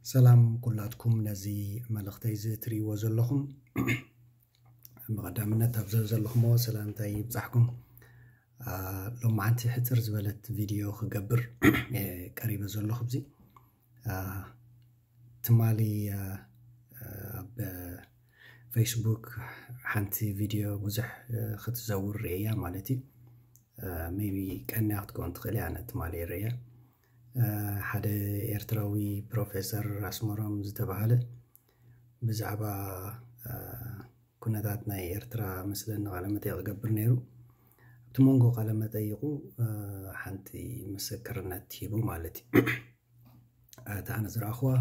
ሰላም ኩላትኩም ነዚ መልእኽተይ እዚ ትርእይዎ ዘለኹም። ብቐዳምነት ኣብ ዘለኹሞ ሰላምታይ ይብጻሕኩም። ሎማዓንቲ ሕጽር ዝበለት ቪድዮ ክገብር ቀሪበ ዘለኹ። ብዚ ትማሊ ኣብ ፌስቡክ ሓንቲ ቪድዮ ብዙሕ ክትዘውር ርእያ ማለት እዩ። ሜቢ ቀንያ ክትከውን ትኽእል እያ። ኣነ ትማሊ ርእያ ሓደ ኤርትራዊ ፕሮፌሰር ኣስመሮም ዝተባህለ ብዛዕባ ኩነታት ናይ ኤርትራ መስለኒ ቃለ መጠይቕ ክገብር ነይሩ። ኣብቲ መንጎ ቃለ መጠይቑ ሓንቲ ምስክርነት ሂቡ ማለት እዩ። እታ ኣነ ዝረኣኹዋ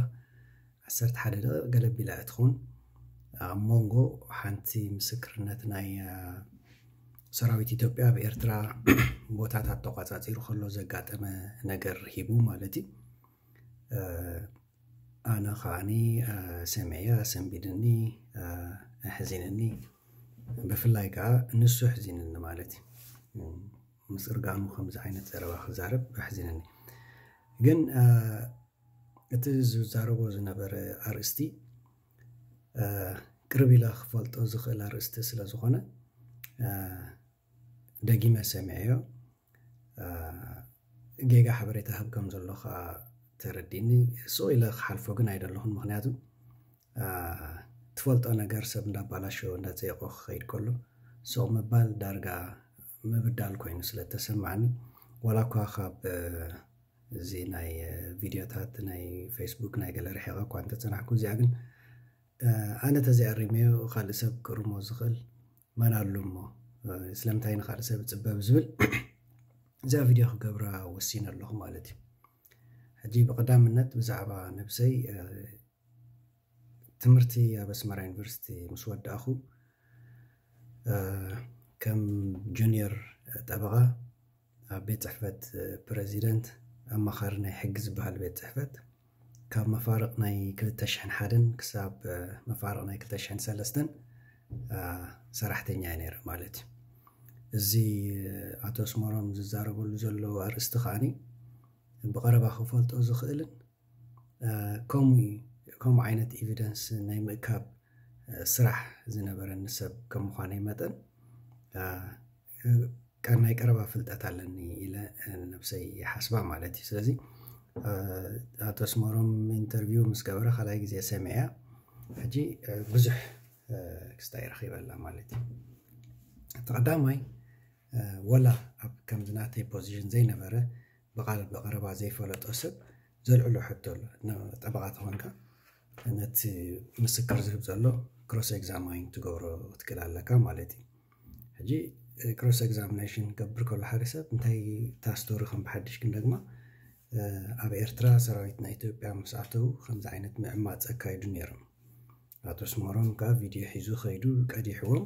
ዓሰርተ ሓደ ደቂቕ ገለ ቢላ እያ ትኸውን። ኣብ መንጎ ሓንቲ ምስክርነት ናይ ሰራዊት ኢትዮጵያ ኣብ ኤርትራ ቦታታት ተቋጻጺሩ ከሎ ዘጋጠመ ነገር ሂቡ ማለት እዩ። ኣነ ከዓኒ ሰሚዐያ፣ ኣሰንቢድኒ፣ ኣሕዚንኒ። ብፍላይ ከዓ ንሱ ኣሕዚንኒ ማለት እዩ። ምስርጋኑ ከምዚ ዓይነት ዘረባ ክዛረብ ኣሕዚንኒ። ግን እቲ ዝዛረቦ ዝነበረ ኣርእስቲ ቅርብ ኢለ ክፈልጦ ዝኽእል ኣርእስቲ ስለ ዝኾነ ደጊመ ሰሚዐዮ። ጌጋ ሓበሬታ ህብ ከም ዘሎ ከዓ ተረዲኒ። ስቕ ኢለ ክሓልፎ ግን ኣይደለኹን። ምኽንያቱ ትፈልጦ ነገር ሰብ እንዳባላሸወ እንዳፀየቆ ክኸይድ ከሎ ስቕ ምባል ዳርጋ ምብዳል ኮይኑ ስለ ተሰማዕኒ፣ ዋላ እኳ ካብ እዚ ናይ ቪድዮታት ናይ ፌስቡክ ናይ ገለ ርሒቐ እኳ እንተፀናሕኩ፣ እዚኣ ግን ኣነ ተዘይኣሪመዮ ካልእ ሰብ ክእርሞ ዝኽእል መን ኣሎ እሞ ስለምንታይ ንኻልእ ሰብ እፅበብ ዝብል እዛ ቪድዮ ክገብራ ወሲነ ኣለኹ ማለት እዩ። ሕጂ ብቐዳምነት ብዛዕባ ነብሰይ ትምህርቲ ኣብ ኣስመራ ዩኒቨርሲቲ ምስ ወዳእኹ ከም ጁኒየር ጠበቓ ኣብ ቤት ጽሕፈት ፕረዚደንት ኣማኻሪ ናይ ሕጊ ዝበሃል ቤት ጽሕፈት ካብ መፋርቕ ናይ ክልተ ሽሕን ሓደን ክሳብ መፋርቕ ናይ ክልተ ሽሕን ሰለስተን ሰራሕተኛ እየ ነይረ ማለት እዩ። እዚ ኣቶ ኣስመሮም ዝዛረበሉ ዘሎ ኣርእስቲ ከዓኒ ብቐረባ ክፈልጦ ዝኽእልን ከምኡ ዓይነት ኤቪደንስ ናይ ምእካብ ስራሕ ዝነበረኒ ሰብ ከም ምዃነይ መጠን ናይ ቀረባ ፍልጠት ኣለኒ ኢለ ንነብሰይ ይሓስባ ማለት እዩ። ስለዚ ኣቶ ኣስመሮም ኢንተርቪው ምስ ገበረ ካልኣይ ግዜ ሰሚዐያ። ሕጂ ብዙሕ ክስታይ ረኺበላ ማለት እዩ። እቲ ቀዳማይ ወላ ኣብ ከምዚ ናተይ ፖዚሽን ዘይነበረ ብቓል ብቐረባ ዘይፈለጦ ሰብ ዘልዕሎ ሕቶ ኣሎ። ጠበቓ ተኾንካ ነቲ ምስክር ዝህብ ዘሎ ክሮስ ኤግዛማይን ትገብሮ ክትክእል ኣለካ ማለት እዩ። ሕጂ ክሮስ ኤግዛሚኔሽን ክገብር ከሎ ሓደ ሰብ እንታይ እታ ስቶሪ ከም ብሓድሽ ክንደግማ ኣብ ኤርትራ ሰራዊት ናይ ኢትዮጵያ ምስ ኣተዉ ከምዚ ዓይነት ምዕማፅ ኣካይዱ ነይሮም። ኣቶ ኣስመሮም ከዓ ቪድዮ ሒዙ ከይዱ ቀዲሕዎም።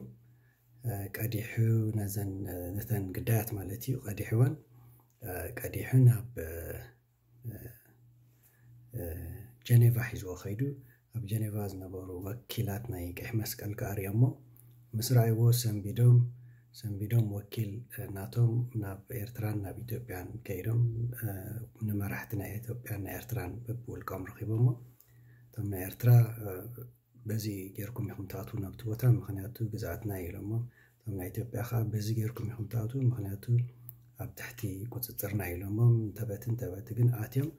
ቀዲሑ ነዘን ነተን ግዳያት ማለት እዩ ቀዲሕወን ቀዲሑ ናብ ጀኔቫ ሒዝዎ ከይዱ ኣብ ጀኔቫ ዝነበሩ ወኪላት ናይ ቀሕ መስቀል ክኣርዮሞ ምስ ረኣይዎ ሰንቢዶም ሰንቢዶም ወኪል ናቶም ናብ ኤርትራን ናብ ኢትዮጵያን ከይዶም ንመራሕቲ ናይ ኢትዮጵያን ናይ ኤርትራን በብውልቆም ረኺቦሞ እቶም ናይ ኤርትራ በዚ ጌርኩም ኢኹም ትኣትዉ ናብቲ ቦታ ምክንያቱ ግዝኣትና ኢሎሞም እቶም ናይ ኢትዮጵያ ከዓ በዚ ጌርኩም ኢኹም ትኣትዉ ምክንያቱ ኣብ ትሕቲ ቁፅፅርና ኢሎሞም እንተበቲ እንተበቲ ግን ኣትዮም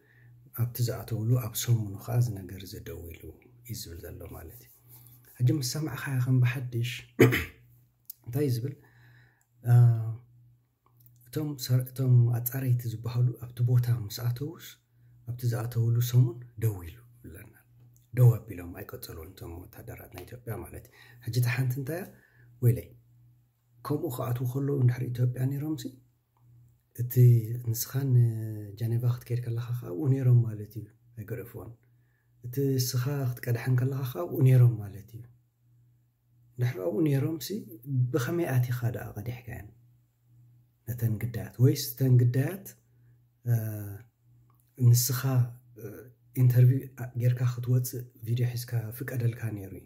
ኣብቲ ዝኣተውሉ ኣብ ሰሙኑ ከዓ እዚ ነገር እዚ ደው ኢሉ እዩ ዝብል ዘሎ ማለት እዩ። ሕጂ ምስ ሰማዕኻያ ከም ብሓድሽ እንታይ እዩ ዝብል እቶም እቶም ኣፃረይቲ ዝበሃሉ ኣብቲ ቦታ ምስ ኣተውስ ኣብቲ ዝኣተውሉ ሰሙን ደው ኢሉ ብለና ደው ኣቢሎም ኣይቀፀሉን እቶም ወታደራት ናይ ኢትዮጵያ ማለት እዩ። ሕጂ እቲ ሓንቲ እንታይ ወይለይ ከምኡ ክኣትዉ ከለዉ እንድሕር ኢትዮጵያ ነይሮምሲ እቲ ንስኻን ጀኔቫ ክትከይድ ከለኻ ከዓ ኣብኡ ነይሮም ማለት እዩ። ኣይገደፍዎን እቲ ንስኻ ክትቀድሐን ከለኻ ከዓ ኣብኡ ነይሮም ማለት እዩ። ድሕሪ ኣብኡ ነይሮምሲ ብኸመይ ኣቲኻ ደኣ ቀዲሕካየን ነተን ግዳያት ወይስ እተን ግዳያት ንስኻ ኢንተርቪው ጌርካ ክትወፅእ ቪድዮ ሒዝካ ፍቀደልካ ነይሩ እዩ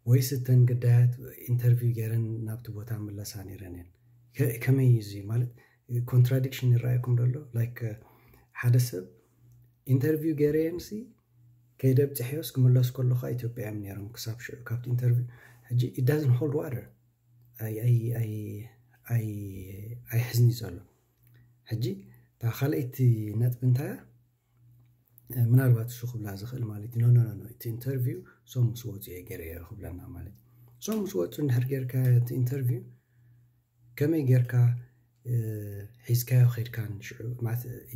ወይስ እተን ግዳያት ኢንተርቪው ጌረን ናብቲ ቦታ ምለሳ ነይረን እየን? ከመይ እዩ እዚ ማለት ኮንትራዲክሽን ይረኣየኩም ደሎ? ላይክ ሓደ ሰብ ኢንተርቪው ገይረየንሲ ከይደ ኣብፅሐዮስ ክምለስ ከለኻ ኢትዮጵያ እዮም ነይሮም ክሳብ ሽዑ ካብቲ ኢንተርቪው። ሕጂ it doesn't hold water ኣይሕዝኒ ዘሎ። ሕጂ እታ ካልኣይቲ ነጥቢ እንታይ ምናልባት እሱ ክብላ ዝኽእል ማለት እዩ ኖ እቲ ኢንተርቪው ሶም ምስ ወፁ እየ ገይረዮ ክብለና ማለት እዩ። ሶም ምስ ወፁ እንድሕር ጌርካ እቲ ኢንተርቪው ከመይ ጌርካ ሒዝካዮ ኸድካ ሽዑ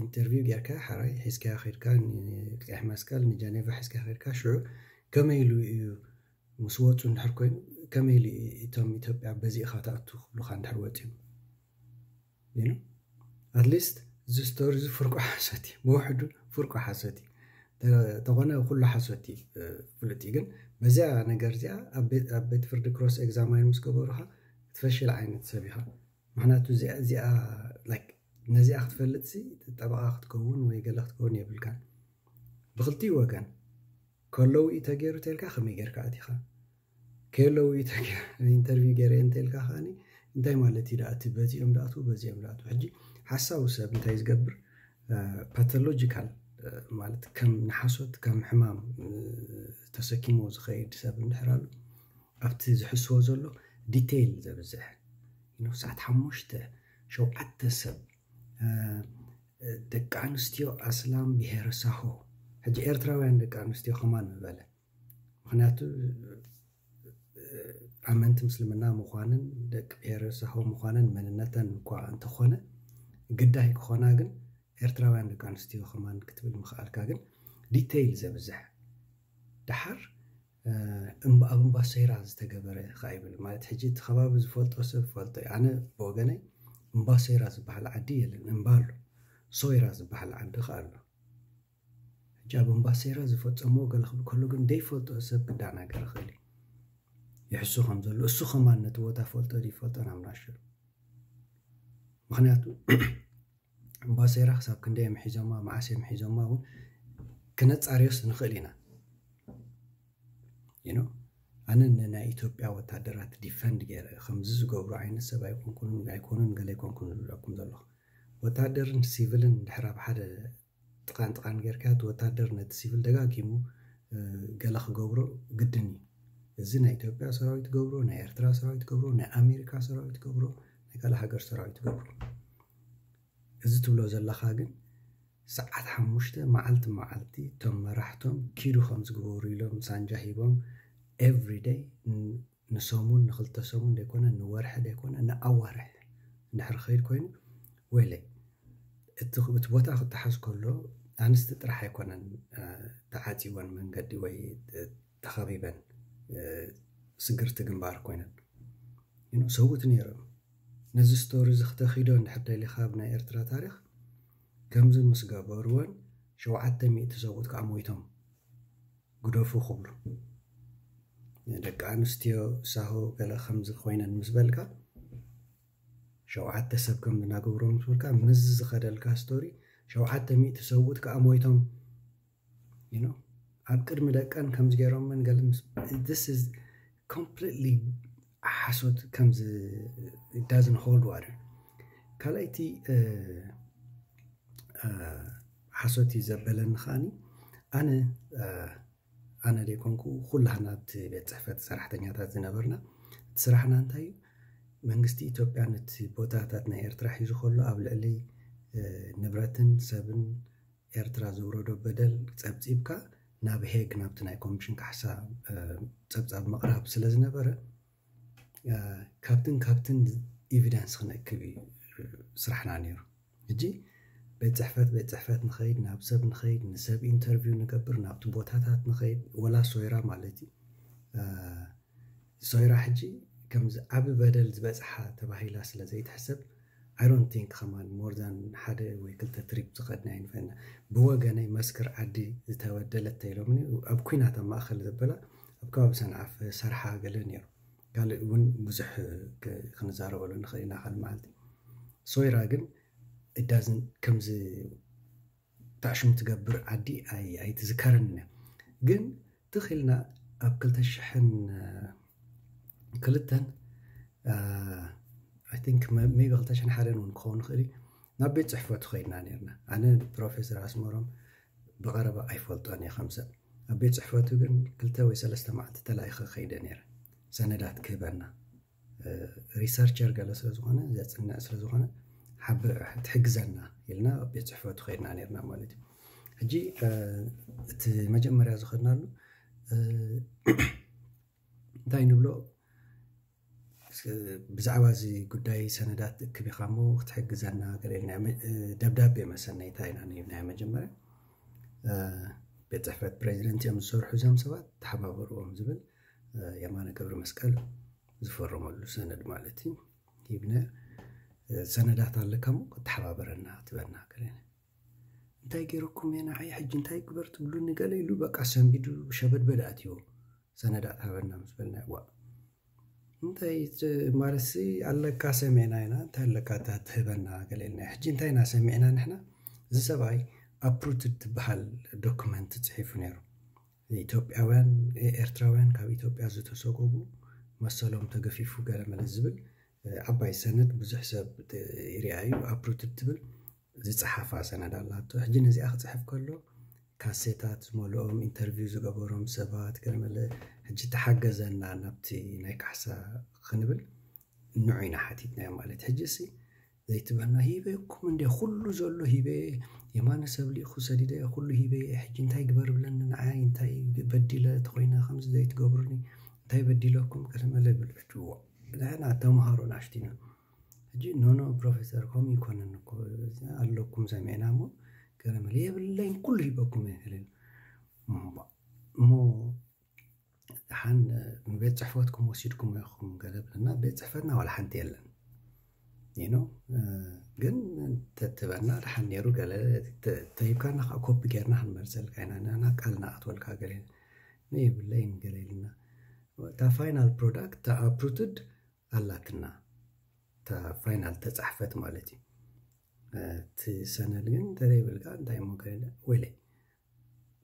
ኢንተርቪው ጌርካ ሓራይ ሒዝካዮ ኸድካ ቀይሕ መስቀል ንጀኔቫ ሒዝካ ኸድካ ሽዑ ከመይ ኢሉ እዩ ምስ ወፁ እንድሕር ኮይኑ ከመይ ኢሉ እቶም ኢትዮጵያ በዚ ኢኻ ትኣቱ ክብሉካ እንድሕር ወፂኦም ኣትሊስት እዚ ስቶሪ እዚ ፍርቁ ሓሶት እዩ ብውሕዱ ፍርቁ ሓሶት እዩ ተኾነ ኩሉ ሓሶት እዩ ፍሉጥ እዩ ግን በዚያ ነገር እዚኣ ኣብ ቤት ፍርዲ ክሮስ ኤግዛማይን ምስ ገበሩካ ትፈሽል ዓይነት ሰብ ኢኻ ምክንያቱ እዚኣ ነዚኣ ክትፈልጥ ጠበቃ ክትከውን ወይ ገለ ክትከውን የብልካ ብክልቲኡ ወገን ከለዉ እዩ ተገይሩ ተልካ ከመይ ጌርካ ኣቲኻ ከየለዉ ኢንተርቪው ገይረ እንተልካ ከዓኒ እንታይ ማለት እዩ ደኣ እቲ በዚኦም ደኣቱ በዚኦም ደኣቱ ሕጂ ሓሳዊ ሰብ እንታይ ዝገብር ፓቶሎጂካል ማለት ከም ንሓሶት ከም ሕማም ተሰኪሞ ዝኸይድ ሰብ እንድሕር ኣሎ ኣብቲ ዝሕስዎ ዘሎ ዲቴይል ዘብዝሕ ሰዓት ሓሙሽተ ሸውዓተ ሰብ ደቂ ኣንስትዮ ኣስላም ብሄረ ሳሆ ሕጂ ኤርትራውያን ደቂ ኣንስትዮ ከማን ምበለ ምክንያቱ ኣመንቲ ምስልምና ምዃንን ደቂ ብሄረ ሳሆ ምዃንን መንነተን እኳ እንተኾነ ግዳይ ክኾና ግን ኤርትራውያን ደቂ ኣንስትዮ ከማን ክትብል ምኽኣልካ ግን ዲቴይል ዘብዝሕ ደሓር ኣብ እምባሰይራ ዝተገበረ ከዓ ይብል ማለት ሕጂ እቲ ከባቢ ዝፈልጦ ሰብ ፈልጦ ኣነ ብወገነይ እምባሰይራ ዝበሃል ዓዲ የለን እምባ ኣሎ ሶይራ ዝበሃል ዓዲ ከዓ ኣሎ ሕጂ ኣብ እምባሰይራ ዝፈፀሞ ገለ ክብል ከሎ ግን ደይፈልጦ ሰብ ክዳናገር ይኽእል ይሕሱ ከም ዘሎ እሱ ከማን ነቲ ቦታ ፈልጦ ይፈልጦ ናብ ናሽሩ ምክንያቱ እምባሰይራ ክሳብ ክንደይ ምሒዞማ መዓስ ምሒዞማ እውን ክነፃርዮስ ንኽእል ኢና you know ኣነ ንናይ ኢትዮጵያ ወታደራት ዲፈንድ ገይረ ከምዚ ዝገብሩ ዓይነት ሰብ ኣይኮንኩን ኣይኮኑን ገለ ኣይኮንኩን ዝብለኩም ዘለኹ ወታደርን ሲቪልን ድሕር ኣብ ሓደ ጥቃን ጥቃን ጌርካ እቲ ወታደር ነቲ ሲቪል ደጋጊሙ ገለ ክገብሮ ግድን እዩ እዚ ናይ ኢትዮጵያ ሰራዊት ገብሮ ናይ ኤርትራ ሰራዊት ገብሮ ናይ ኣሜሪካ ሰራዊት ገብሮ ናይ ካልእ ሃገር ሰራዊት ገብሮ እዚ ትብሎ ዘለኻ ግን ሰዓት ሓሙሽተ መዓልቲ መዓልቲ እቶም መራሕቶም ኪዱ ከም ዝግበሩ ኢሎም ሳንጃ ሂቦም everyday ንሰሙን ንክልተ ሰሙን ዘይኮነ ንወርሒ ዘይኮነ ንኣዋርሕ እንድሕር ኸይድ ኮይኑ ወይለይ እቲ እቲ ቦታ ክተሓዝ ከሎ ኣንስቲ ጥራሕ ኣይኮነን ተዓፂወን መንገዲ ወይ ተኸቢበን ስግርቲ ግንባር ኮይነን ሰብኡት ነይሮም ነዚ ስቶሪ እዚ ክተኺዶ እንድሕር ደሊኻ ኣብ ናይ ኤርትራ ታሪክ ከምዚ ምስ ገበርወን ሸውዓተ ሚእቲ ሰብኡት ከዓ ሞይቶም ግደፉ ክብሉ ደቂ ኣንስትዮ ሳሆ ገለ ከምዚ ኮይነን ምስ በልካ ሸውዓተ ሰብ ከም ዝናገብሮ ምስ በልካ ምስዚ ዝኸደልካ ስቶሪ ሸውዓተ ሚእቲ ሰብኡት ከዓ ሞይቶም you know ኣብ ቅድሚ ደቀን ከምዚ ገይሮምን ገለ this is completely ሓሶት ከምዚ it doesn't hold water ካልኣይቲ ሓሶት እዩ ዘበለኒ ከዓኒ ኣነ ኣነ ዘይኮንኩ ኩላህና ኣብቲ ቤት ፅሕፈት ሰራሕተኛታት ዝነበርና እቲ ስራሕና እንታይ እዩ መንግስቲ ኢትዮጵያ ነቲ ቦታታት ናይ ኤርትራ ሒዙ ከሎ ኣብ ልዕሊ ንብረትን ሰብን ኤርትራ ዝውረዶ በደል ጸብጺብካ ናብ ሄግ ናብቲ ናይ ኮሚሽን ካሕሳ ጸብጻብ ምቕራብ ስለ ዝነበረ ካብትን ካብትን ኤቪደንስ ክነክብ እዩ ስራሕና ነይሩ። ሕጂ ቤት ጽሕፈት ቤት ጽሕፈት ንኸይድ፣ ናብ ሰብ ንኸይድ፣ ንሰብ ኢንተርቪው ንገብር፣ ናብቲ ቦታታት ንኸይድ፣ ወላ ሶይራ ማለት እዩ። ሶይራ ሕጂ ከምዚ ዓቢ በደል ዝበጽሓ ተባሂላ ስለ ዘይትሕሰብ I don't think ከማን more than ሓደ ወይ ክልተ ትሪፕ ዝኸድና ኣይንፈልጥና። ብወገነይ መስክር ዓዲ ዝተበደለት ተኢሎምኒ ኣብ ኲናት ኣብ ማእከል ዘበላ ኣብ ከባቢ ሰንዓፈ ሰርሓ ገለ ነይሩ። ካልእ እውን ብዙሕ ክንዛረበሉ ንኽእል ኢና ካልእ መዓልቲ። ሶይራ ግን it doesn't ከምዚ ታሽሙ ትገብር ዓዲ ኣይትዝከረን እያ ግን ትኽልና ኣብ ክልተ ሽሕን ክልተን I think maybe ክልተ ሽሕን ሓደን እውን ክኸውን ይኽእል እዩ ናብ ቤት ፅሕፈቱ ከይድና ነርና ኣነ ፕሮፌሰር ኣስመሮም ብቐረባ ኣይፈልጦን እየ ከም ሰብ ቤት ጽሕፈቱ ግን ክልተ ወይ ሰለስተ መዓልቲ ተላኢኸ ከይደ ነይረ፣ ሰነዳት ክህበና። ሪሰርቸር ገለ ስለ ዝኾነ፣ ዘጽንዕ ስለ ዝኾነ፣ ሓብ ትሕግዘና ኢልና ቤት ጽሕፈቱ ከይድና ነይርና ማለት እዩ። ሕጂ እቲ መጀመርያ ዝኸድናሉ እንታይ ንብሎ፣ ብዛዕባ እዚ ጉዳይ ሰነዳት እክብ ኢኻ እሞ ክትሕግዘና ገለ ኢልና፣ ደብዳቤ መሰናይታ ኢና ናይ መጀመርያ። ቤት ጽሕፈት ፕሬዚደንት እዮም ዝሰርሑ እዞም ሰባት፣ ተሓባበርዎም ዝብል የማነ ገብረ መስቀል ዝፈረመሉ ሰነድ ማለት እዩ። ሂብነ ሰነዳት ኣለካ እሞ ክትሓባበረና ትበና ገለ። እንታይ ገይረኩም እየ ንዓይ ሕጂ እንታይ ግበር ትብሉኒ ገለ ኢሉ በቃ ሰንቢዱ ሸበድበድ ኣትዎ። ሰነዳት ሃበና ምስ በልና፣ ዋ እንታይ ማለትሲ ኣለካ ሰሚዕና ኢና፣ እንታይ ኣለካ እታ ትህበና ገለ ኢልና። ሕጂ እንታይ ኢና ሰሚዕና ንሕና? እዚ ሰብኣይ ኣፕሩትድ ትበሃል ዶክመንት ጽሒፉ ነይሩ። ኢትዮጵያውያን ኤርትራውያን ካብ ኢትዮጵያ ዝተሰጎጉ መሰሎም ተገፊፉ ገለ መለ ዝብል ዓባይ ሰነድ ብዙሕ ሰብ ይርኣዩ። ኣፕሩትድ ትብል ዝጸሓፋ ሰነድ ኣላቶ። ሕጂ ነዚኣ ክጽሕፍ ከሎ ካሴታት ዝመልኦም ኢንተርቪው ዝገበሮም ሰባት ገለ መለ ሕጂ ተሓገዘና ናብቲ ናይ ካሕሳ ክንብል ንዑ ኢና ሓቲትናዮ ማለት። ሕጂ ሲ ዘይትበልና ሂበኩም እንደ ኩሉ ዘሎ ሂበ የማነ ሰብ ልኢኹ ሰዲደ ኩሉ ሂበ ሕጂ እንታይ ግበር ብለኒ ንዓይ እንታይ በዲለ ተኾይነ ከምዚ ዘይትገብሩኒ እንታይ በዲለኩም ገለ መለ ብል ሕጂ ንሕና ተምሃሮ ናሽቲና ሕጂ ኖኖ ፕሮፌሰር ከምኡ ይኮነን እኮ ኣለኩም ሰሚዕና እሞ ገለ መለ የብለይን ኩሉ ሂበኩም እየ እሞ ደሓን ንቤት ጽሕፈትኩም ወሲድኩም ኢኹም ገለ ብለና። ቤት ጽሕፈትና ዋላ ሓንቲ የለን ኢኖ ግን ተትበና ደሓን ነይሩ። ገለ ተሂብካና ከዓ ኮፒ ጌርና ክንመልሰልካ ኢና ንና ቃል ንኣትወልካ ገለ የብለይን ገለ ኢልና እታ ፋይናል ፕሮዳክት እታ ኣፕሩትድ ኣላትና እታ ፋይናል ተጻሕፈት ማለት እዩ። እቲ ሰነድ ግን እንተዘይብልካ እንታይ እሞ ገለ ወይለይ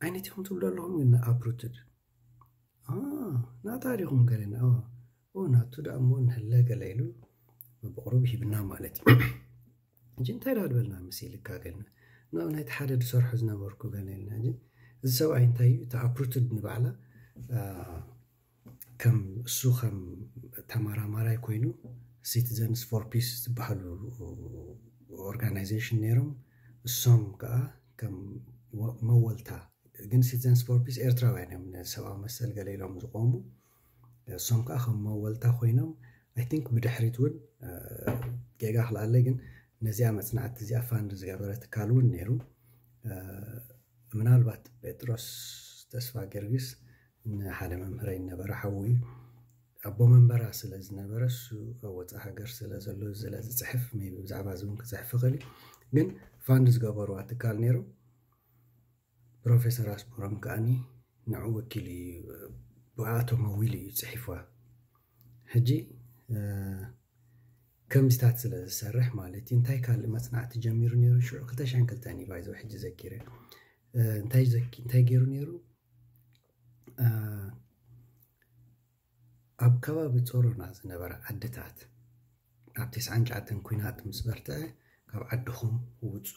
ዓይነት ኢኹም ትብሉ ኣለኹም ግን ኣፕሩትድ ናታ ዲኹም ገለና ናቱ ደኣ እሞ ንህለ ገለ ኢሉ ብቕሩብ ሂብና ማለት እዩ። እንጂ እንታይ ዳ ዝበልና መሲልካ ገልና ናብ ናይቲ ሓደ ዝሰርሖ ዝነበርኩ ገለ ኢልና እንጂ እዚ ሰብኣይ እንታይ እዩ እቲ ኣፕሩትድ ንባዕላ ከም እሱ ከም ተመራማራይ ኮይኑ ሲቲዘንስ ፎር ፒስ ዝበሃሉ ኦርጋናይዜሽን ነይሮም። እሶም ከዓ ከም መወልታ ግን ሲቲዘንስ ፎር ፒስ ኤርትራውያን እዮም ንሰብኣዊ መሰል ገለ ኢሎም ዝቆሙ። እሶም ከዓ ከም መወልታ ኮይኖም ኣይ ቲንክ ብድሕሪት እውን ጌጋ ክልኣለይ ግን ነዚኣ መፅናዕቲ እዚኣ ፋንድ ዝገበረ ትካል እውን ነይሩ። ምናልባት ጴጥሮስ ተስፋ ጊዮርጊስ ንሓደ መምህረይ ነበረ ሓዉ እዩ ኣቦ መንበራ ስለ ዝነበረ እሱ ኣብ ወፃእ ሃገር ስለ ዘሎ ስለ ዝፅሕፍ ቢ ብዛዕባ እዚ እውን ክፅሕፍ ይኽእል እዩ። ግን ፋንድ ዝገበርዋ ትካል ነይሩ። ፕሮፌሰር ኣስመሮም ከዓኒ ንዑ ወኪሉ እዩ ብኣቶም ኣዊሉ እዩ ፅሒፍዋ። ሕጂ ከምዚታት ስለ ዝሰርሕ ማለት እዩ እንታይ ካልእ መፅናዕቲ ጀሚሩ ነይሩ ሽዑ ክልተ ሽሕን ክልተን እዩ ባይዘው ሕጂ ዘኪረ እንታይ ገይሩ ነይሩ ኣብ ከባቢ ጾሮና ዝነበራ ዓድታት ኣብ ተስዓን ትሽዓተን ኲናት ምስ በርትዐ ካብ ዓድኹም ውጹ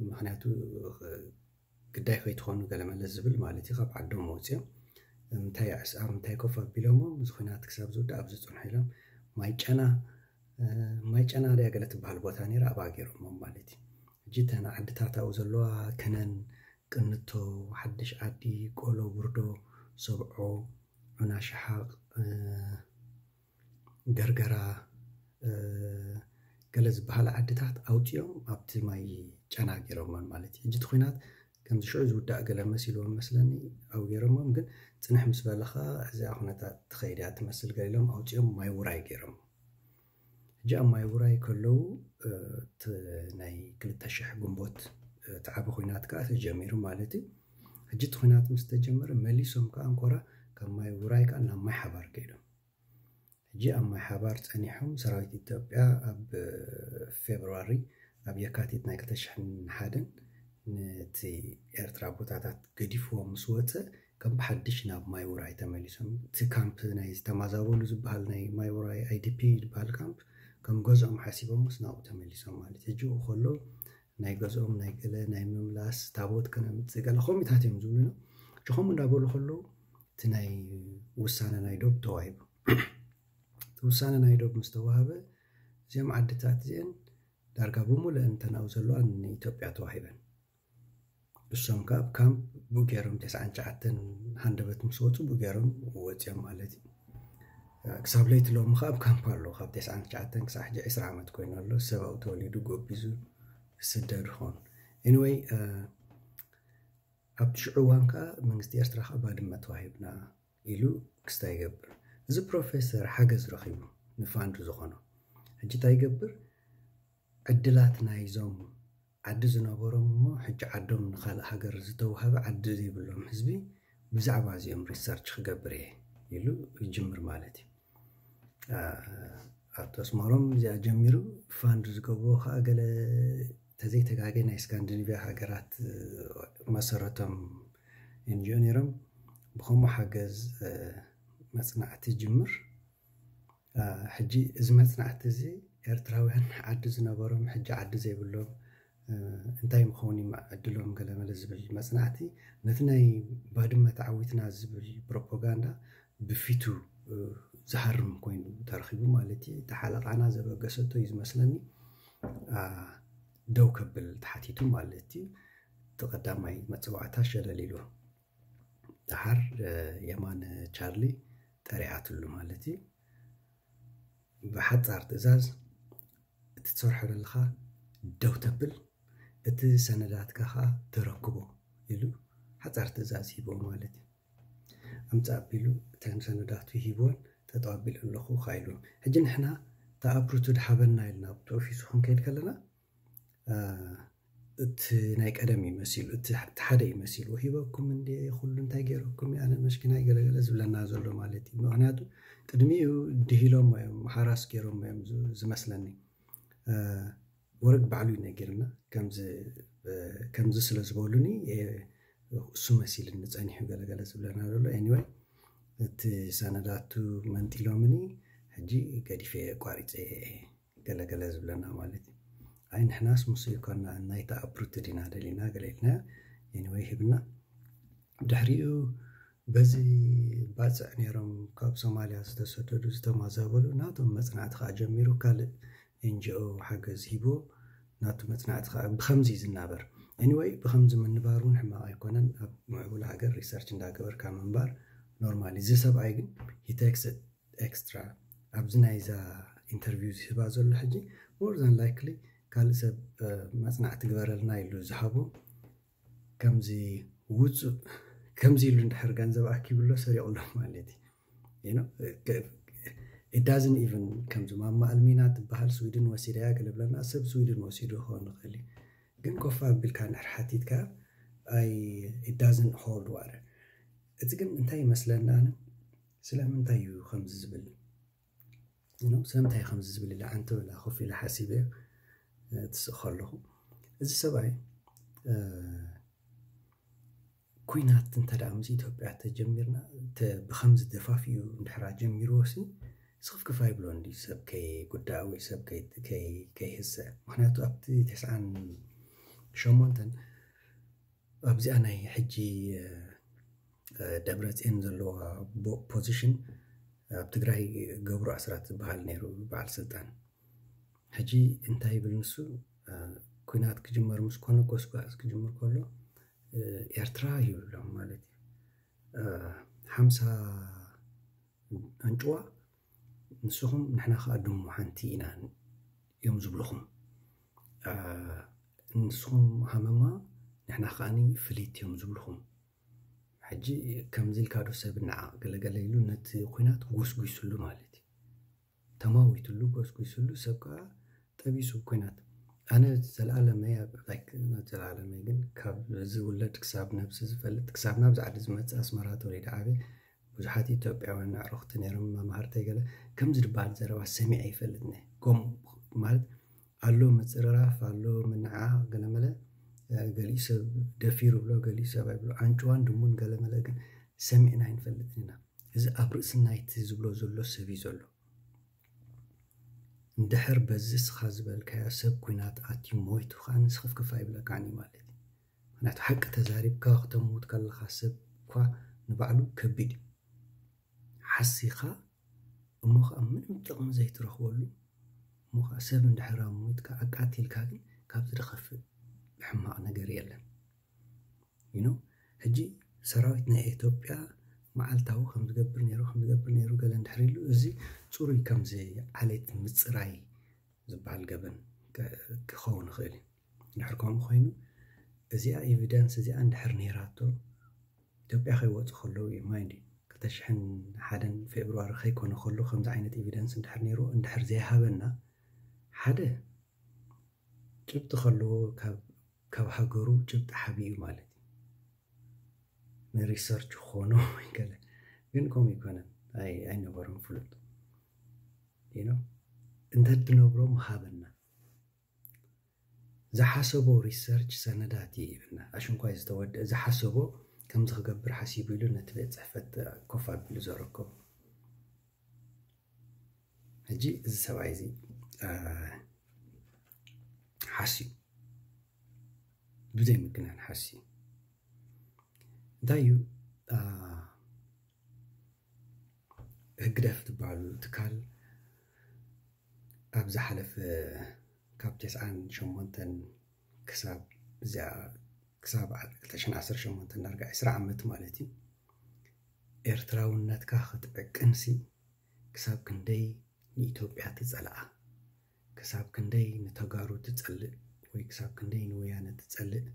ምኽንያቱ ግዳይ ከይትኾኑ ገለመለ ዝብል ማለት እዩ ካብ ዓዶም ወፅዮም እንታይ ኣዕስኣም እንታይ ኮፍ ኣቢሎሞ እዚ ኲናት ክሳብ ዝውዳእ ኣብዚ ፅንሑ ኢሎም ማይ ጨና ማይ ጨና ድያ ገለ ትበሃል ቦታ ነይራ ኣብኣ ገይሮሞም ማለት እዩ ሕጂ እተን ዓድታት ኣብኡ ዘለዋ ከነን ቅንቶ ሓድሽ ዓዲ ቆሎ ውርዶ ሰብዖ ዑና ሽሓቕ ገርገራ ገለ ዝበሃላ ዓድታት ኣውፅኦም ኣብቲ ማይ ጨና ገይሮሞን ማለት እዩ ሕጂ እቲ ኲናት ከምዚ ሽዑ ዝውዳእ ገለ መሲልዎም መስለኒ ኣብኡ ገይሮሞም ግን ፅንሕ ምስ በለ ከዓ እዚኣ ኩነታት ትኸይድ እያ ትመስል ገለ ኢሎም ኣውፅኦም ማይ ውራይ ገይሮም ሕጂ ኣብ ማይ ውራይ ከለዉ እቲ ናይ ክልተ ሽሕ ግንቦት እቲ ዓቢ ኩናት ከዓ ተጀሚሩ ማለት እዩ ሕጂ እቲ ኩናት ምስ ተጀመረ መሊሶም ከዓ እንኮራ ካብ ማይ ውራይ ከዓ ናብ ማይ ሓባር ከይዶም ሕጂ ኣብ ማይ ሓባር ፀኒሖም ሰራዊት ኢትዮጵያ ኣብ ፌብርዋሪ ኣብ የካቲት ናይ ክልተ ሽሕን ሓደን ነቲ ኤርትራ ቦታታት ገዲፍዎ ምስ ወፀ ከም ብሓድሽ ናብ ማይ ውራይ ተመሊሶም እቲ ካምፕ ናይ ዝተማዛበሉ ዝበሃል ናይ ማይ ውራይ ኣይዲፒ ዝበሃል ካምፕ ከም ገዝኦም ሓሲቦምስ ናብኡ ተመሊሶም ማለት ሕጂ ከሎ ናይ ገዝኦም ናይ ገለ ናይ ምምላስ ታቦት ከነምፅእ ገለ ከምኡታት እዮም ዝብሉና ችኸም እንዳበሉ ከለዉ እቲ ናይ ውሳነ ናይ ዶብ ተዋሂቡ። እቲ ውሳነ ናይ ዶብ ምስ ተዋሃበ እዚኦም ዓድታት እዚአን ዳርጋ ብሙሉአን እተን ኣብኡ ዘለዋ ንኢትዮጵያ ተዋሂበን። እሶም ከዓ ኣብ ካምፕ ብኡ ገይሮም ተስዓን ትሽዓተን ሃንደበት ምስ ወፁ ብኡ ገይሮም ወፂኦም ማለት እዩ። ክሳብ ለይቲ ሎሚ ከዓ ኣብ ካምፕ ኣሎ። ካብ ተስዓን ትሽዓተን ክሳብ ሕጂ ዕስራ ዓመት ኮይኑ ኣሎ። ሰብ ኣብኡ ተወሊዱ ጎቢዙ ስደድ ኾን። Anyway፣ ኣብቲ ሽዑ እዋን ከዓ መንግስቲ ኤርትራ ከዓ ባድመ ተዋሂብና ኢሉ ክስታ ይገብር። እዚ ፕሮፌሰር ሓገዝ ረኺቡ ንፋንድ ዝኾኖ ሕጂ እንታይ ይገብር? ዕድላት ናይዞም ዓዲ ዝነበሮም እሞ ሕጂ ዓዶም ንኻልእ ሃገር ዝተዋሃበ ዓዲ ዘይብሎም ህዝቢ ብዛዕባ እዚኦም ሪሰርች ክገብር እየ ኢሉ ይጅምር ማለት እዩ። ኣብቲ ኣስመሮም እዚኣ ጀሚሩ ፋንድ ዝገብርዎ ከዓ ገለ ተዘይተጋገ ናይ ስካንዲኒቪያ ሃገራት መሰረቶም ኤንጂኦ ነይሮም። ብኸምኡ ሓገዝ መፅናዕቲ ጅምር። ሕጂ እዚ መፅናዕቲ እዚ ኤርትራውያን ዓዲ ዝነበሮም ሕጂ ዓዲ ዘይብሎም እንታይ ምኸውን እዩ ዕድሎም ገለመለ ዝብል መፅናዕቲ ነቲ ናይ ባድመ ተዓዊትና ዝብል ፕሮፓጋንዳ ብፊቱ ዝሃርም ኮይኑ ተረኺቡ ማለት እዩ። እቲ ሓለቓና ዘበገሰቶ እዩ ዝመስለኒ ደው ከብል ተሓቲቱ ማለት እዩ። እቲ ቀዳማይ መፀዋዕታ ሸለል ኢሉ ደሓር የማነ ቻርሊ ጠሪዓትሉ ማለት እዩ። ብሓፃር ትእዛዝ እቲ ትሰርሖ ዘለኻ ደው ተብል፣ እቲ ሰነዳትካ ከዓ ተረክቦ ኢሉ ሓፃር ትእዛዝ ሂቦ ማለት እዩ። ኣምፃእ ኣቢሉ እተን ሰነዳቱ ሂቦን ጠጠው ኣቢሉ ኣለኹ ኢሉ። ሕጂ ንሕና ተኣፕሩቱ ድሓበና ኢልና ኣብቲ ኦፊሱ ክንከይድ ከለና እቲ ናይ ቀደም ይመሲሉ፣ እቲ ሓደ ይመሲሉ ሂበኩም እንደ ኩሉ እንታይ ገይረኩም ኣነ መሽኪናይ ገለገለ ዝብለና ዘሎ ማለት እዩ። ምክንያቱ ቅድሚኡ ድሂሎም እዮም ሓራስ ገይሮም እዮም ዝመስለኒ። ወረግ ባዕሉ ይነገርና ከምዚ ስለ ዝበሉኒ እሱ መሲልኒ ጸኒሑ ገለገለ ዝብለና ዘሎ። Anyway፣ እቲ ሰነዳቱ መንጢሎምኒ ሕጂ ገዲፈ ኣቋሪፀ ገለገለ ዝብለና ማለት እዩ። ኣይ ንሕናስ ምስ ይኮና ናይታ ኣፕሩት ዲና ደሊና ገለ ኢልና Anyway ሂብና። ድሕሪኡ በዚ ባፅዕ ነይሮም ካብ ሶማልያ ዝተሰደዱ ዝተማዛበሉ ናቶም መፅናዕቲ ከዓ ጀሚሩ። ካልእ ኤንጂኦ ሓገዝ ሂቦ ናቱ መፅናዕቲ ከዓ ብከምዚ እዩ ዝናበር። Anyway ብከምዚ ምንባር እውን ሕማቕ ኣይኮነን። ኣብ ምዕቡል ሃገር ሪሰርች እንዳገበርካ ምንባር ኖርማል። እዚ ሰብኣይ ግን ሂቴክስ ኤክስትራ ኣብዚ ናይዛ ኢንተርቪው ዝህባ ዘሎ ሕጂ more than likely ካልእ ሰብ መፅናዕቲ ግበረልና ኢሉ ዝሃቦ ከምዚ ውፁእ ከምዚ ኢሉ እንድሕር ገንዘብ ኣኪብሎ ሰሪቑሎ ማለት እዩ። It doesn't even ከምዚ ማማ ኣልሚና ትበሃል ስዊድን ወሲዳያ ገለ ብለና ሰብ ስዊድን ወሲዱ ክኸውን ይኽእል እዩ። ግን ኮፍ ኣቢልካ እንድሕር ሓቲትካ ኣይ it doesn't hold water። እቲ ግን እንታይ ይመስለና ኣነ ስለምንታይ እዩ ከምዚ ዝብል ስለምንታይ ከምዚ ዝብል ኢለ ዓንተ ብላ ኮፍ ኢለ ሓሲበ ትስእ ከለኹ እዚ ሰብኣይ ኩናት እንተ ምስ ኢትዮጵያ ተጀሚርና ብከምዚ ደፋፊኡ እንድሕራ ጀሚርዎ ሲ ስኽፍክፍ ኣይብሎ እንዲ ሰብ ከይጉዳእ ወይ ሰብ ከይህሰ። ምክንያቱ ኣብቲ ተስዓን ሸሞንተን ኣብዚኣ ናይ ሕጂ ደብረፅዮን ዘለዋ ፖዚሽን ኣብ ትግራይ ገብሩ ኣስራት ዝበሃል ነይሩ በዓል ስልጣን። ሕጂ እንታይ ይብል ንሱ ኩናት ክጅመር ምስ ኮነ ጎስጓስ ክጅምር ከሎ ኤርትራ ይብሎም ማለት እዩ። ሓምሳ ኣንጭዋ ንስኹም ንሕና ከዓ ድሙ ሓንቲ ኢና እዮም ዝብልኹም። ንስኹም ሃመማ ንሕና ከዓኒ ፍሊት እዮም ዝብልኹም። ሕጂ ከምዚ ኢልካ ዶ ሰብ ንዓቕ ገለገለ ኢሉ ነቲ ኩናት ጎስጒስሉ ማለት እዩ። ተማዊትሉ ጎስጒስሉ ሰብ ከዓ ጠቢሱ ኩናት ኣነ ዘላለመይ ዘላለመይ ግን ካብ ዝውለድ ክሳብ ነብሲ ዝፈልጥ ክሳብ ናብዚ ዓዲ ዝመፅእ ኣስመራ ተወሊደ ዓበ ብዙሓት ኢትዮጵያውያን ኣዕሩኽቲ ነይሮም መማህርተይ ገለ ከምዚ ዝበሃል ዘረባ ሰሚዐ ይፈልጥኒ ከም ማለት ኣሎ ምፅርራፍ ኣሎ ምንዓ ገለመለ ገሊኡ ሰብ ደፊሩ ብሎ ገሊኡ ሰብ ኣይብሎ ኣንጭዋን ድሙን ገለመለ ግን ሰሚዕና ኣይንፈልጥን ኢና እዚ ኣብ ርእሲ ናይቲ ዝብሎ ዘሎ ሰብ እዩ ዘሎ እንድሕር በዚ እስኻ ዝበልካዮ ሰብ ኩናት ኣትዩ ሞይቱ ከዓ ንስኽፍክፍ ኣይብለካን እዩ ማለት እዩ ምክንያቱ ሓቂ ተዛሪብካ ክተምውት ከለኻ ሰብ እኳ ንባዕሉ ከቢድ እዩ። ሓሲኻ እሞ ከዓ ምንም ጥቕሚ ዘይትረኽበሉ እሞ ከዓ ሰብ እንድሕር ኣሞይትካ ኣቃቲልካ ግን ካብዚ ዝኸፍእ ሕማቕ ነገር የለን። You know? ሕጂ ሰራዊት ናይ ኢትዮጵያ መዓልታዊ ከም ዝገብር ነይሩ ከም ዝገብር ነይሩ ገለ እንድሕር ኢሉ እዚ ፅሩይ ከምዚ ዓሌት ምፅራይ ዝበሃል ገበን ክኸውን ይኽእል እዩ። እንድሕር ከምኡ ኮይኑ እዚኣ ኤቪደንስ እዚኣ እንድሕር ነይራቶ ኢትዮጵያ ከይወፁ ከለዉ እዩ ማይንድ ክልተ ሽሕን ሓደን ፌብርዋሪ ከይኮነ ከሎ ከምዚ ዓይነት ኤቪደንስ እንድሕር ነይሩ እንድሕር ዘይሃበና ሓደ ጭብጢ ከለዎ ካብ ሃገሩ ጭብጢ ሓቢኡ ማለት እዩ። ንሪሰርች ክኾኖ ገለ ግን ከምኡ ይኮነን ኣይነበሩን ፍሉጥ እንተትነብሮ ምሃበና ዝሓሰቦ ሪሰርች ሰነዳት እዩ ይብልና። ኣሽንኳይ ዝተወደአ ዝሓሰቦ ከምዚ ክገብር ሓሲቡ ኢሉ ነቲ ቤት ፅሕፈት ኮፍ ኣቢሉ ዘረከቡ። ሕጂ እዚ ሰብኣይ እዚ ሓስዩ ብዘይ ምግናን ሓስዩ እንታይ እዩ ህግደፍ ትበሃሉ ትካል ኣብ ዝሓለፈ ካብ ተስዓን ሸሞንተን ክሳብ እዚኣ ክሳብ ክልተ ሽሕን ዓሰርተ ሸሞንተን ዳርጋ ዕስራ ዓመት ማለት እዩ ኤርትራውነትካ ክትዕቅንሲ ክሳብ ክንደይ ንኢትዮጵያ ትጸልኣ ክሳብ ክንደይ ንተጋሩ ትጸልእ ወይ ክሳብ ክንደይ ንወያነ ትጸልእ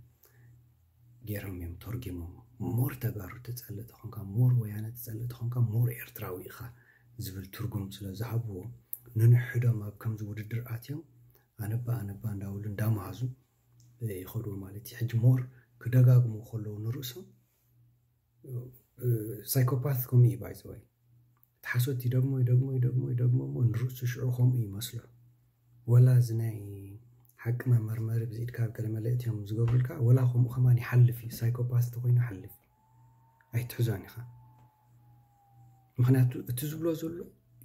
ገይሮም እዮም ተርጊሞም። ሞር ተጋሩ ትጸልእ ተኾንካ፣ ሞር ወያነ ትጸልእ ተኾንካ፣ ሞር ኤርትራዊ ኢኻ ዝብል ትርጉም ስለ ዝሃብዎ ንንሕዶም ኣብ ከምዚ ውድድር ኣትዮም ኣነባ ኣነባ እንዳበሉ እንዳመሃዙ ይኸድዎ ማለት እዩ። ሕጂ ሞር ክደጋግሙ ከለዉ ንርእሶም ሳይኮፓት ከምኡ እዩ ባይዘወይ እቲ ሓሶት ይደግሞ ይደግሞ ይደግሞ ይደግሞ እሞ ንርእሱ ሽዑ ከምኡ ይመስሎ። ወላ እዚ ናይ ሓቂ መመርመሪ ብዚ ኢድካ ኣብ ገለመለ እትዮም ዝገብሩልካ ወላ ከምኡ ከማን ይሓልፍ እዩ። ሳይኮፓት ተኮይኑ ሓልፍ ኣይትሕዞን ኢኻ። ምክንያቱ እቲ ዝብሎ ዘሎ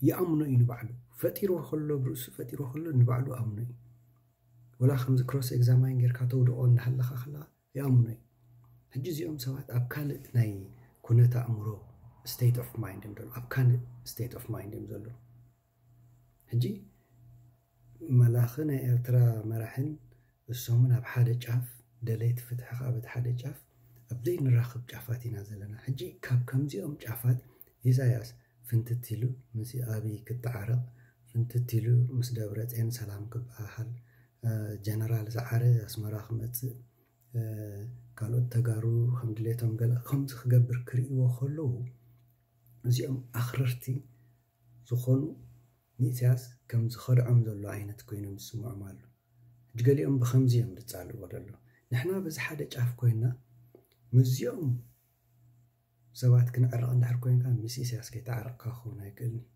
ይኣምኖ እዩ ንባዕሉ ፈጢርዎ ከሎ ብርእሱ ፈጢርዎ ከሎ ንባዕሉ ኣምኖ እዩ። ወላ ከምዚ ክሮስ ኤግዛማይን ጌርካ ተውድቆ እንዳሃለካ ከለካ ይኣምኖ እዩ። ሕጂ እዚኦም ሰባት ኣብ ካልእ ናይ ኩነት ኣእምሮ state of mind እዮም ዘለዉ ኣብ ካልእ state of mind እዮም ዘለዉ። ሕጂ መላኺ ናይ ኤርትራ መራሕን እሶምን ኣብ ሓደ ጫፍ ደለይቲ ፍትሒ ከዓ በቲ ሓደ ጫፍ ኣብ ዘይንራኽብ ጫፋት ኢና ዘለና። ሕጂ ካብ ከምዚኦም ጫፋት ኢሳያስ ፍንትት ኢሉ ምስ ኣብይ ክተዓረቕ ፍንትት ኢሉ ምስ ደብረፅዮን ሰላም ክበሃሃል ጀነራል ሰዓረ ኣስመራ ክመፅእ ካልኦት ተጋሩ ከም ድሌቶም ገለ ከምዚ ክገብር ክርእይዎ ከለዉ እዚኦም ኣኽረርቲ ዝኾኑ ንኢሳያስ ከም ዝኸድዖም ዘሎ ዓይነት ኮይኖም ዝስምዖም ኣሎ። ሕጂ ገሊኦም ብኸምዚ እዮም ዝጻልዎ ዘለዉ። ንሕና በዚ ሓደ ጫፍ ኮይንና ምስዚኦም ሰባት ክንዕረቕ እንድሕር ኮይንካ ምስ ኢሳያስ ከይተዓረቕካ ክኸውን ኣይክእልን እዩ።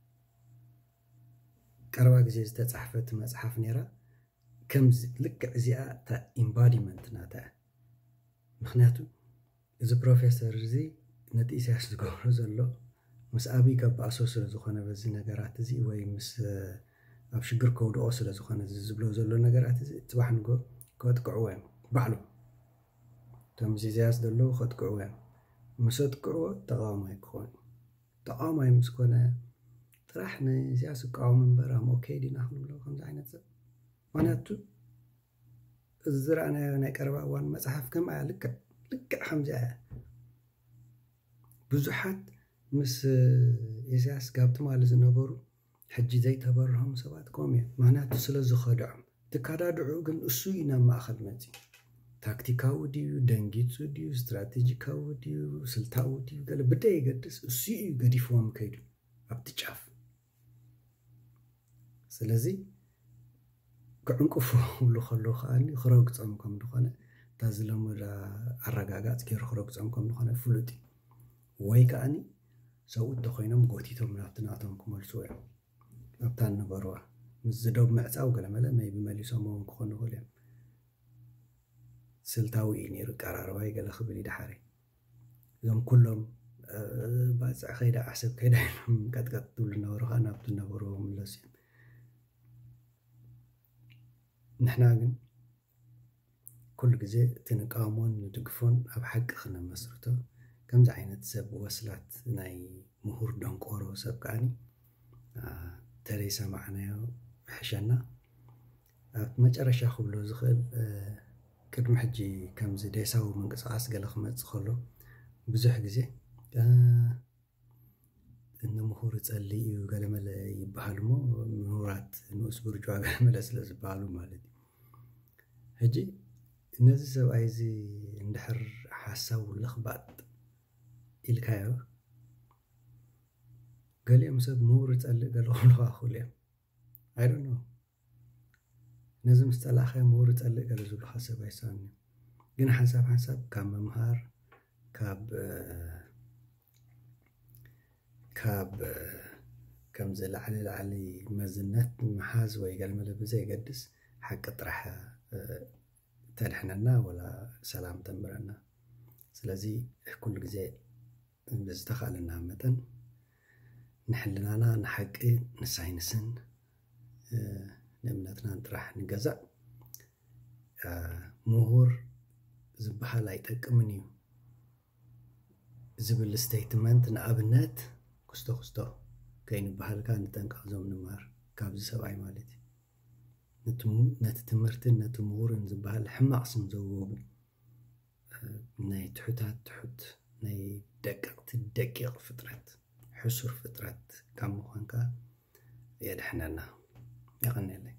ቀረባ ግዜ ዝተጻሕፈት መጽሓፍ ነይራ ከምዚ ልክዕ እዚኣ እታ ኢምባዲመንት ናታ እያ። ምክንያቱ እዚ ፕሮፌሰር እዚ ነቲ ኢሳያስ ዝገብሮ ዘሎ ምስ ኣብይ ከባእሶ ስለ ዝኾነ በዚ ነገራት እዚ ወይ ምስ ኣብ ሽግር ከውድቆ ስለ ዝኾነ እዚ ዝብሎ ዘሎ ነገራት እዚ ፅባሕ ንጎ ከጥቅዕዎ እዮም ባዕሎም እቶም ምስ ኢሳያስ ዘለዉ ከጥቅዕዎ እዮም። ምስ ኣጥቅዕዎ ተቃዋማይ ክኾን እዩ። ተቃዋማይ ምስ ኮነ ጥራሕ ንኢሳያስ ይቃወም እምበር ኣም ኦኬ ዲና ክንብሎ ከምዚ ዓይነት ሰብ ምክንያቱ እዚ ዝረኣናዮ ናይ ቀረባ እዋን መፅሓፍ ከምኣ ልክዕ ልክዕ ከምዚኣ እያ። ብዙሓት ምስ ኢሳያስ ጋብ ትማሊ ዝነበሩ ሕጂ ዘይተበርሆም ሰባት ከምኡ እዮም። ምክንያቱ ስለ ዝኸድዖም ትከዳድዑ ግን እሱ እዩ ናብ ማእኸል መፂ ታክቲካዊ ድዩ ደንጊፁ ድዩ ስትራቴጂካዊ ድዩ ስልታዊ ድዩ ገለ ብደይ ይገድስ እሱ እዩ ገዲፍዎም ከይዱ ኣብቲ ጫፍ ስለዚ ክዕንቅፉ ክብሉ ከለዉ ከዓ ክረግፆም ከም ዝኾነ እታ ዝለመዳ ኣረጋጋፅ ገይሩ ክረግፆም ከም ዝኾነ ፍሉጥ እዩ። ወይ ከዓ ሰብኡት ተኮይኖም ጎቲቶም ናብቲ ናቶም ክመልስዎ እዮም። ኣብታ እንነበርዋ ምስ ዝደብ ምዕፃው ገለመለ መይቢ መሊሶም እውን ክኾኑ ይኽእሉ እዮም። ስልታዊ እዩ ነይሩ ቀራርባይ ገለ ክብል እዩ ደሓረይ እዞም ኩሎም ባፅዕ ከይዳ ዓሰብ ከይዳ ኢሎም ቀጥቀጥ ትብሉ ነበሩ ከዓ ናብቲ ነበርዎ ምለሱ እዮም። ንሕና ግን ኩሉ ግዜ እቲ ንቃወሞን ንድግፎን ኣብ ሓቂ ክነመስርቶ ከምዚ ዓይነት ሰብ ወስላት ናይ ምሁር ደንቆሮ ሰብ ከዓኒ ተደይ ሰማዕናዮ ሕሸና። ኣብ መጨረሻ ክብሎ ዝኽእል ቅድሚ ሕጂ ከምዚ ዴሳዊ ምንቅስቃስ ገለ ክመፅእ ከሎ ብዙሕ ግዜ ንምሁር ይፀሊ እዩ ገለመለ ይበሃል እሞ ምሁራት ንኡስ ብርጅዋ ገለመለ ስለ ዝበሃሉ ማለት እዩ። ሕጂ ነዚ ሰብኣይ እዚ እንድሕር ሓሳቡ ለኽባጥ ኢልካዮ ገሊኦም ሰብ ምሁር ይፀልእ ገለ ክብሉኻ ክኽእሉ እዮም። I don't know። ነዚ ምስ ጸላእኻዮ ምሁር ይጸልእ ገለ ዝብሉኻ ሰብ ኣይሳኒ። ግን ሓንሳብ ሓንሳብ ካብ ምምሃር ካብ ካብ ከምዚ ላዕሊ ላዕሊ መዝነት ምሓዝ ወይ ገለመለ ብዘይገድስ ሓቂ ጥራሕ ተድሕነና ወላ ሰላም ተንብረና። ስለዚ ኩሉ ግዜ ብዝተኻእለና መጠን ንሕልናና ንሓቂ ንሳይንስን ንእምነትናን ጥራሕ ንገዛእ። ምሁር ዝበሃል ኣይጠቅምን እዩ ዝብል ስቴትመንት ንኣብነት ክስቶ ክስቶ ከይንበሃልካ ንጠንቀቕ ዞም ንማር ካብዚ ሰብኣይ ማለት እዩ። ነቲ ትምህርትን ነቲ ምሁርን ዝበሃል ሕማቕ ስም ዘውህቡ ናይ ትሑታት ትሑት ናይ ደቀቕቲ ደቂቕ ፍጥረት ሕሱር ፍጥረት ካብ ምዃንካ የድሕነና። የቐንየለይ።